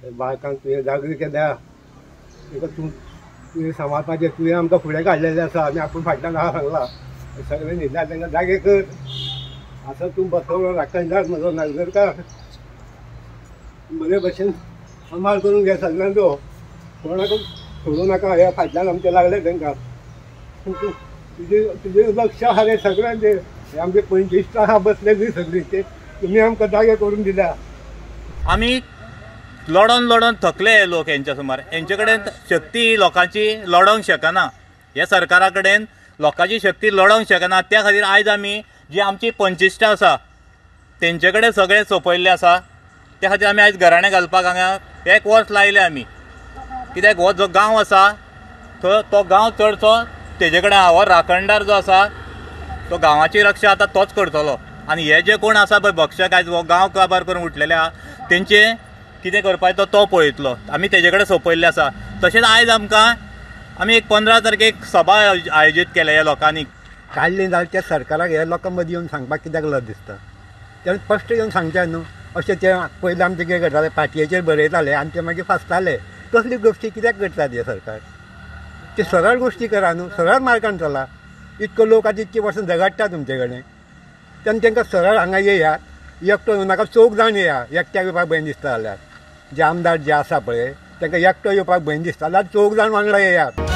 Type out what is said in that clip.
बायकांक तुवें जागृत केल्या, ताका तूं तुवें सांबाळपाचें, तुवें आमकां फुडें काडलेलें आसा, आमी आपूण फाटल्यान आहा सांगलां. सगळें न्हिदल्या तांकां जागे कर. आसा तूं बसवलो राखणदार म्हजो नागझरकार, बरे भशेन सांबाळ करून घे सगळ्यांचो, कोणाक सोडूं नाका. ह्या फाटल्यान आमचें लागलें तांकां. तुजें तुजें लक्ष आहा रे सगळ्यांचेर. हे आमचे पंचिश्ट आहा बसलेली सगळीं, ते तुमी आमकां जागे करून दिल्या. आमी लडोन लडोन थकले लोक हेंच्या सुमार. हेंचे कडेन शक्ती लोकांची लडोंक शकना, ह्या सरकारा कडेन लोकांची शक्ती लडोंक शकना. त्या खातीर आयज आमी जी आमची पंचिश्टां आसा तेंचे कडेन सगळें सोंपयल्लें आसा. त्या खातीर आमी आयज घराणें घालपाक हांगा एक वर्स लायलें आमी. कित्याक हो जो गांव आसा तो गांव चडसो तेजे कडेन आहा. हो राखणदार जो आसा तो गांवाची रक्षा आतां तोच करतलो. आनी हे जे कोण आसा पळय भक्षक आयज हो गांव काबार करून उठलेले आहा तेंचे कितें करपाचें तो पळयतलो. आमी तेजे कडेन सोंपयल्लें आसा. तशेंच आयज आमकां आमी एक 15 तारखेक सभा आयोजीत केल्या ह्या लोकांनी. काडली जाल्यार त्या सरकाराक ह्या लोकां मदीं येवन सांगपाक कित्याक लज दिसता? तेणें स्पश्ट येवन सांगचें न्हू. अशें ते पयलीं आमचें कितें करताले, पाटयेचेर बरयताले आनी ते मागीर फासताले. तसली गोश्टी कित्याक करतात हे सरकार? ते सरळ गोश्टी करा न्हू, सरळ मार्गान चला. इतको लोक आतां इतकी वर्सां झगडटा तुमचे कडेन, तेन्ना तांकां सरळ हांगा येयात, एकटो येवं नाका, चौग जाण येया. एकट्याक येवपाक भंय दिसता जाल्यार, जे आमदार जे आसा पळय तांकां एकटो येवपाक भंय दिसता जाल्यार चौग जाण वांगडा येयात.